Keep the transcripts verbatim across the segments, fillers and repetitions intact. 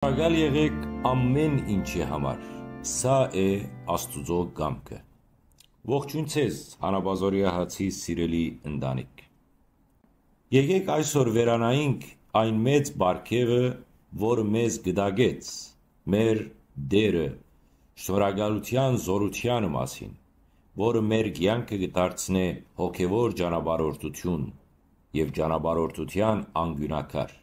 Շնորհակալ եղեք ամեն ինչի համար։ Սա է Աստուծոյ կամքը։ Ողջույն ձեզ, Հանապազորի հացի սիրելի ընտանիք։ Եկեք այսօր վերանայինք այն մեծ պարգեւը, որ մեզ գտագեց մեր Տէրը, շնորհակալութեան զօրութեանը մասին, որը մեր կեանքը կը դարձնէ հոգեվոր ճանապարհորդութիւն եւ ճանապարհորդութեան անկիւնակար։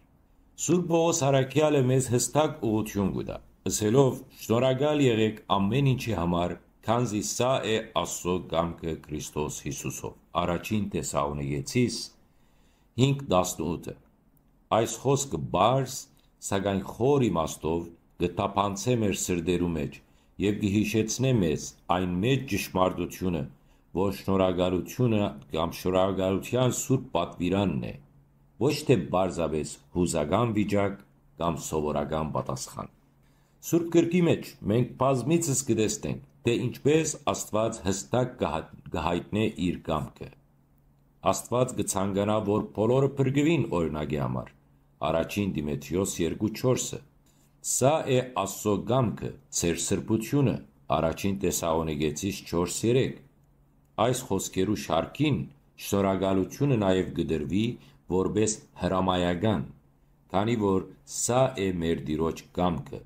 Սուրբ Պողոս առաքեալը մեզ յստակ ուղղութիւն կու տայ, ըսելով. «Շնորհակալ եղեք ամեն ինչի համար, քանզի սա է Աստուծոյ կամքը Քրիստոս Յիսուսով»։ Առաջին Թեսաղոնիկեցիս հինգ տասնութը։ Այս խօսքը պարզ, սակայն խոր իմաստով կը թափանցէ մեր սրտերու մէջ եւ կը յիշեցնէ մեզ այն մեծ ճշմարտութիւնը, որ շնորհակալութիւնը կամ շնորհակալութեան սուրբ պատուիրանն է, ոչ թէ պարզապէս յուզական վիճակ կամ սովորական պատասխան։ Սուրբ Գրքի մէջ մենք բազմիցս կը տեսնենք, թէ ինչպէս Աստուած յստակ կը յայ-, կը յայտնէ իր կամքը։ Աստուած կը ցանկանայ, որ բոլորը փրկուին, օրինակի համար, առաջին Տիմոթէոս երկու չորսը։ Սա է Աստուծոյ կամքը, ձեր սրբութիւնը, առաջին Թեսաղոնիկեցիս չորս երեք։ Այս խօսքերու շարքին շնորհակալութիւնը նաեւ կը տրուի որպէս հրամայական, քանի որ սա է մեր Տիրոջ կամքը։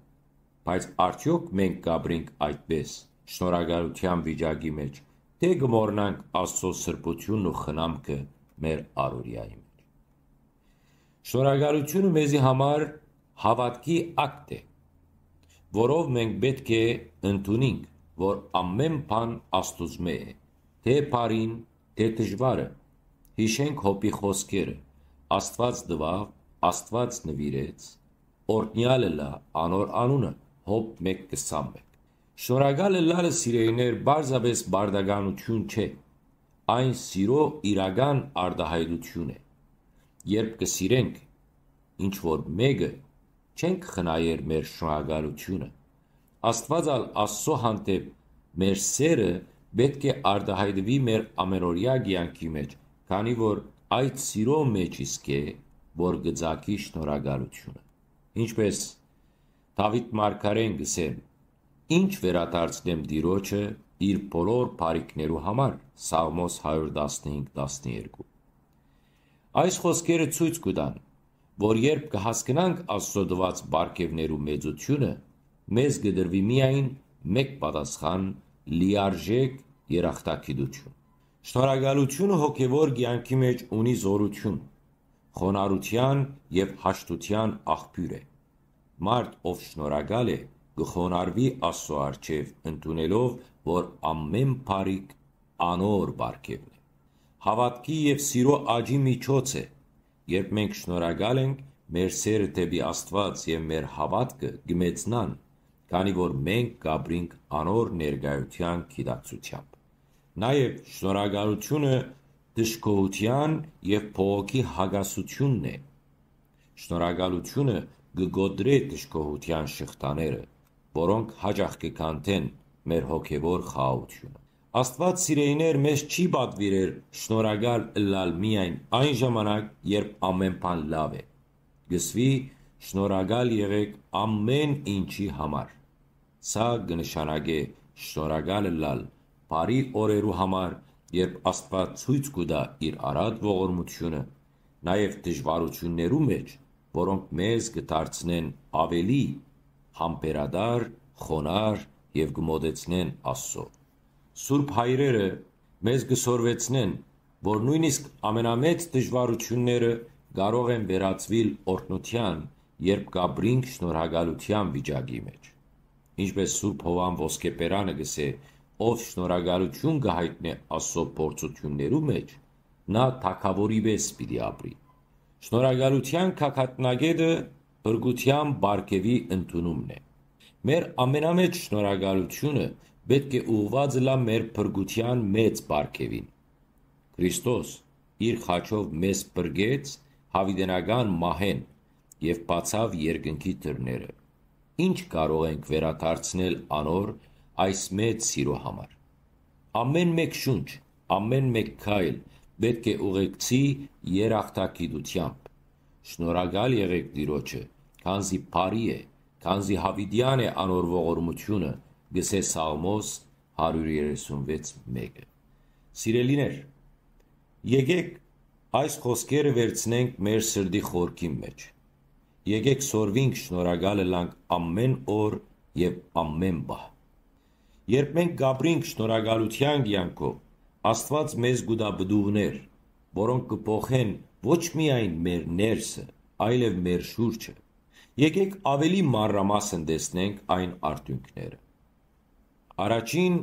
Բայց արդեօք մենք կ'ապրենք այդպէս, շնորհակալութեան վիճակի մէջ, թէ՞ կը մոռնանք Աստուծոյ սրբութիւնն ու խնամքը մեր առօրեայի մէջ։ Շնորհակալութիւնը մեզի համար հաւատքի ակտ է, որով մենք պէտք է ընդունինք, որ ամեն բան Աստուծմէ է, թէ բարին, թէ դժուարը։ Յիշենք Յոբի խօսքերը. «Աստուած տուաւ, Աստուած նուիրեց, օրհնեալ ըլլայ անոր անունը»։ Յոբ մէկ քսանմէկ։ Շնորհակալ ըլլալը, սիրելիներ, պարզապէս պարտականութիւն չէ, այն սիրոյ իրական արտայայտութիւն է։ Երբ կը սիրենք ինչ որ մէկը, չենք խնայեր մեր շնորհակալութիւնը։ Աստուած ալ Աստուծոյ հանդէպ մեր սէրը պէտք է արտայայտուի մեր ամենօրեայ կեանքի մէջ, քանի որ այդ սիրոյ մէջ իսկ է, որ կը ծագի շնորհակալութիւնը։ Ինչպէս Դաւիթ մարգարէն կ'ըսէ. «Ի՞նչ վերադարձնեմ Տիրոջը իր բոլոր բարիքներու համար»։ Սաղմոս հարիւր տասնհինգ տասներկու։ Այս խօսքերը ցոյց կու տան, որ երբ կը հասկնանք Աստուծոյ տուած պարգեւներու մեծութիւնը, մեզ կը տրուի միայն մէկ պատասխան՝ լիարժէք երախտագիտութիւն։ Շնորհակալութիւնը հոգեվոր կեանքի մէջ ունի զօրութիւն, խոնարհութեան եւ հաշտութեան աղբիւր է։ Մարդ, ով շնորհակալ է, կը խոնարհուի Աստուծոյ առջեւ, ընդունելով, որ ամէն բարիք անոր պարգեւն է։ Հաւատքի եւ սիրոյ աճի միջոց է։ Երբ մենք շնորհակալ ենք, մեր սէրը դէպի Աստուած եւ մեր հաւատքը կը մեծնան, քանի որ մենք կ'ապրինք անոր ներկայութեան գիտակցութեամբ։ Նաեւ շնորհակալութիւնը դժգոհութեան եւ բողոքի հակասութիւնն է։ Շնորհակալութիւնը կը կոտրէ դժգոհութեան շղթաները, որոնք յաճախ կը քանդեն մեր հոգեվոր խաղաղութիւնը։ Աստուած, սիրելիներ, մեզ չի պատուիրեր շնորհակալ ըլլալ միայն այն ժամանակ, երբ ամէն բան լաւ է։ Կ'ըսուի. «Շնորհակալ եղեք ամէն ինչի համար»։ Սա կը նշանակէ շնորհակալ ըլլալ բարի օրերու համար, երբ Աստուած ցոյց կու տայ իր առատ ողորմութիւնը, նաեւ դժուարութիւններու մէջ, որոնք մեզ կը դարձնեն աւելի համբերատար, խոնարհ եւ կը մօտեցնեն Աստուծոյ։ Սուրբ հայրերը մեզ կը սորվեցնեն, որ նոյնիսկ ամենամեծ դժուարութիւնները կարող են վերածուիլ օրհնութեան, երբ կ'ապրինք շնորհակալութեան վիճակի մէջ։ Ինչպէս Սուրբ Յովհան Ոսկեբերանը կ'ըսէ. «Ով շնորհակալութիւն կը յայտնէ Աստուծոյ փորձութիւններու մէջ, նա թագաւորի պէս պիտի ապրի»։ Շնորհակալութեան գագաթնակէտը փրկութեան պարգեւի ընդունումն է։ Մեր ամենամեծ շնորհակալութիւնը պէտք է ուղղուած ըլլայ մեր փրկութեան մեծ պարգեւին։ Քրիստոս իր խաչով մեզ փրկեց յաւիտենական մահէն եւ բացաւ երկնքի դռները։ Ի՞նչ կարող ենք վերադարձնել անոր այս մեծ սիրոյ համար։ Ամէն մէկ շունչ, ամէն մէկ քայլ պէտք է ուղեկցի երախտագիտութեամբ։ Շնորհակալ եղեք Տիրոջը, քանզի բարի է, քանզի յաւիտեան է անոր ողորմութիւնը, կ'ըսէ Սաղմոս հարիւր երեսուն վեց մէկը։ Սիրելիներ, եկէք այս խօսքերը վերցնենք մեր սրտի խորքին մէջ։ Եկէք սորվինք շնորհակալ ըլլանք ամէն օր եւ ամէն պահ։ Երբ մենք կ'ապրինք շնորհակալութեան կեանքով, Աստուած մեզ կու տայ պտուղներ, որոնք կը փոխեն ոչ միայն մեր ներսը, այլեւ մեր շուրջը։ Եկէք աւելի մանրամասն տեսնենք այն արդիւնքները։ Առաջին,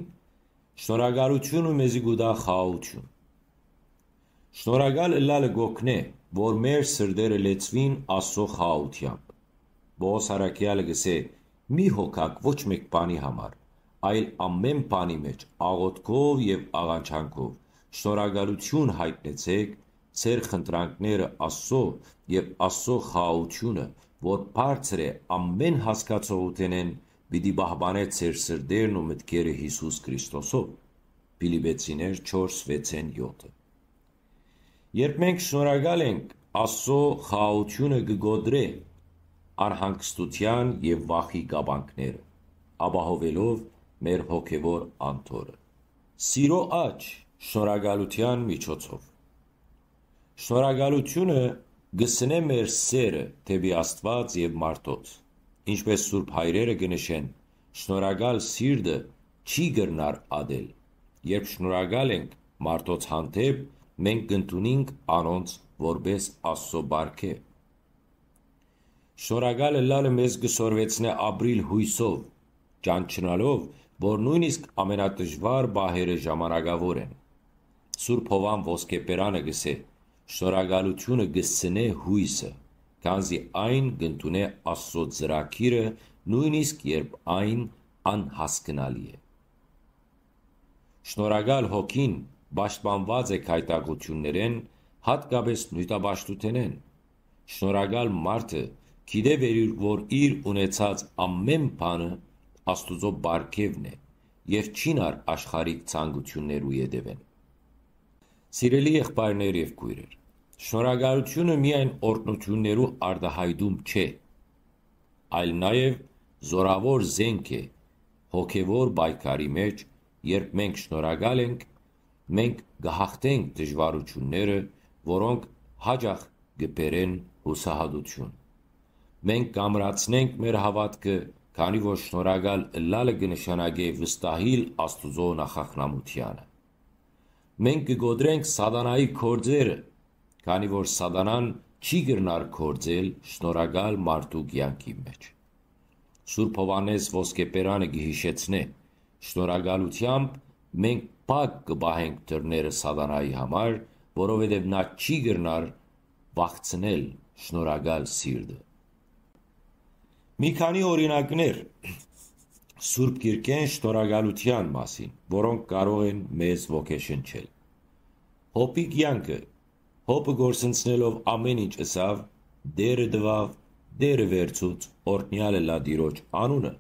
շնորհակալութիւնը մեզի կու տայ խաղաղութիւն։ Շնորհակալ ըլլալը կ'օգնէ, որ մեր սրտերը լեցուին Աստուծոյ խաղաղութեամբ։ Պողոս առաքեալը կ'ըսէ. «Մի հոգաք ոչ մէկ բանի համար, այլ ամէն բանի մէջ աղօթքով եւ աղանջանքով շնորհակալութիւն յայտնեցէք ձեր խնդրանքները Աստուծոյ, եւ Աստուծոյ խաղաղութիւնը, որ բարձր է ամէն հասկացողութենէն, պիտի պահպանէ ձեր սրտերն ու մտքերը Յիսուս Քրիստոսով»։ Փիլիպեցիներ չորս վեցէն յոթը։ Երբ մենք շնորհակալ ենք, Աստուծոյ խաղաղութիւնը կը կոտրէ անհանգստութեան եւ վախի կապանքները, ապահովելով մեր հոգեւոր անդորը։ Սիրո աճ շնորհակալութեան միջոցով։ Շնորհակալութիւնը կը սնէ մեր սերը դէպի Աստուած եւ մարդոց։ Ինչպէս սուրբ հայրերը կը նշեն, շնորհակալ սիրտը չի կրնար ատել։ Երբ շնորհակալ ենք մարդոց հանդէպ, մենք կ'ընդունինք անոնց որպէս Աստուծոյ պարգեւ։ Շնորհակալ ըլլալը մեզ կը սորվեցնէ ապրիլ յոյսով, ճանչնալով, որ նոյնիսկ ամենատժուար պահերը ժամանակաւոր են։ Սուրբ Յովհան Ոսկեբերանը կ'ըսէ. «Շնորհակալութիւնը կը սնէ յոյսը, քանզի այն կ'ընդունէ Աստուծոյ ծրագիրը, նոյնիսկ երբ այն անհասկնալի է»։ Շնորհակալ հոգին պաշտպանուած է գայթակղութիւններէն, յատկապէս նիւթապաշտութենէն։ Շնորհակալ մարդը գիտէ, որ իր, որ իր ունեցած ամէն բանը Աստուծոյ պարգեւն է եւ չի նար աշխարհիկ ցանկութիւններու ետեւէն։ Սիրելի եղբայրներ եւ քոյրեր, շնորհակալութիւնը միայն օրհնութիւններու արտայայտում չէ, այլ նաեւ զօրաւոր զէնք է հոգեւոր պայքարի մէջ, երբ մենք շնորհակալ ենք, մենք կը յաղթենք դժուարութիւնները, որոնք յաճախ կը բերեն յուսահատութիւն։ Մենք կ'ամրացնենք մեր հաւատքը, քանի որ շնորհակալ ըլլալը կը նշանակէ վստահիլ Աստուծոյ նախախնամութեանը։ Մենք կը կոտրենք Սատանայի գործերը, քանի որ Սատանան չի կրնար գործել շնորհակալ մարդու կեանքի մէջ։ Սուրբ Յովհաննէս Ոսկեբերանը կը յիշեցնէ. «Շնորհակալութեամբ մենք փակ կը պահենք դռները Սատանայի համար, որովհետեւ նա չի կրնար վախցնել շնորհակալ սիրտը»։ Մի քանի օրինակներ Սուրբ Գիրքէն շնորհակալութեան մասին, որոնք կարող են մեզ ոգեշնչել։ Յոբի կեանքը։ Յոբը կորսնցնելով ամէն ինչ ըսաւ. «Տէրը տուաւ, Տէրը վերցուց, օրհնեալ ըլլայ Տիրոջ անունը»։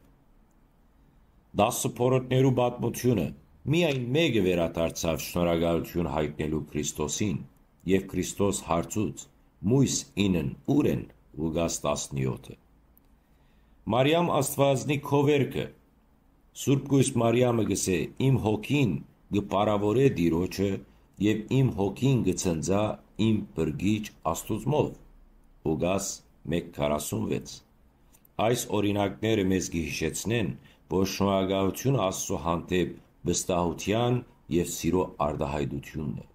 Տասը փորոտներու պատմութիւնը։ Միայն մէկը վերադարձաւ շնորհակալութիւն յայտնելու Քրիստոսին, եւ Քրիստոս հարցուց. «Մոյս ինն ո՞ւր են»։ Ղուկաս տասնեօթը։ Մարիամ Աստուածնի քովերքը։ Սուրբ Կոյս Մարիամը կ'ըսէ. «Իմ հոգին կը փառաւորէ Տիրոջը եւ իմ հոգին կը ցնծայ իմ Փրկիչ Աստուծմով»։ Ղուկաս մէկ քառասունվեց։ Այս օրինակները մեզ կը յիշեցնեն, որ շնորհակալութիւնը Աստուծոյ հանդէպ վստահութեան եւ սիրո արտայայտութիւնն է։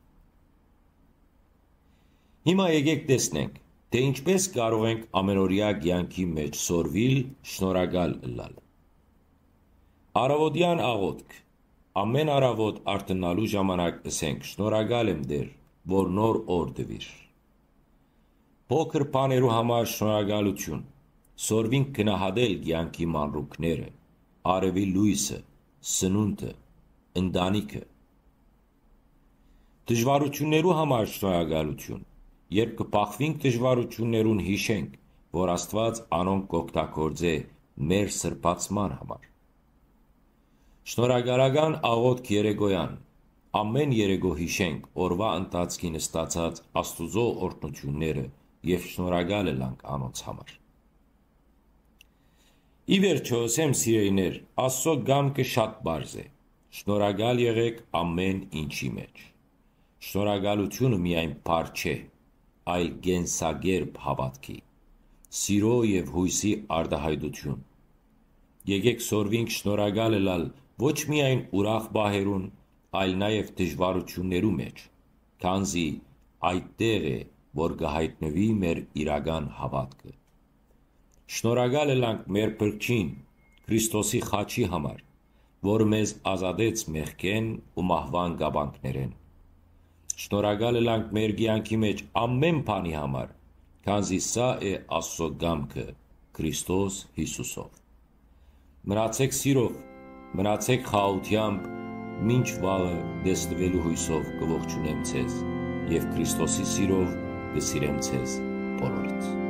Հիմա եկէք տեսնենք, թէ ինչպէս կարող ենք ամենօրեայ կեանքի մէջ սորվիլ շնորհակալ ըլլալ։ Առաւօտեան աղօթք։ Ամէն առաւօտ արթնալու ժամանակ ըսենք. «Շնորհակալ եմ, Տէր, որ նոր օր տուիր»։ Փոքր բաներու համար շնորհակալութիւն։ Սորվինք գնահատել կեանքի մանրուքները, արեւի լոյսը, սնունդը, ընտանիքը։ Դժուարութիւններու համար շնորհակալութիւն։ Երբ կը բախուինք դժուարութիւններուն, յիշենք, որ Աստուած անոնք կ'օգտագործէ մեր սրբացման համար։ Շնորհակալական աղօթք երեկոյան։ Ամէն երեկո յիշենք օրուայ ընթացքին ստացած Աստուծոյ օրհնութիւնները եւ շնորհակալ ըլանք անոնց համար։ Ի վերջոյ, ըսեմ, սիրելիներ, Աստուծոյ կամքը շատ պարզ է. շնորհակալ եղէք ամէն ինչի մէջ։ Շնորհակալութիւնը միայն փառք չէ, այլ կենսակերպ հաւատքի, սիրոյ եւ յոյսի արտայայտութիւն։ Եկէք սորվինք շնորհակալ ըլլալ ոչ միայն ուրախ պահերուն, այլ նաեւ դժուարութիւններու մէջ, քանզի այդտեղ է, որ կը յայտնուի մեր իրական հաւատքը։ Շնորհակալ ըլլանք մեր Փրկչին, Քրիստոսի խաչի համար, որ մեզ ազատեց մեղքէն ու մահուան կապանքներէն։ Շնորհակալ ըլանք մեր կեանքի մէջ ամէն բանի համար, քանզի սա է Աստուծոյ կամքը Քրիստոս Յիսուսով։ Մնացեք սիրով, մնացեք խաղաղութեամբ, մինչ վաղը տեսնուելու յոյսով կը ողջունեմ ձեզ եւ Քրիստոսի սիրով կը սիրեմ ձեզ բոլորիդ։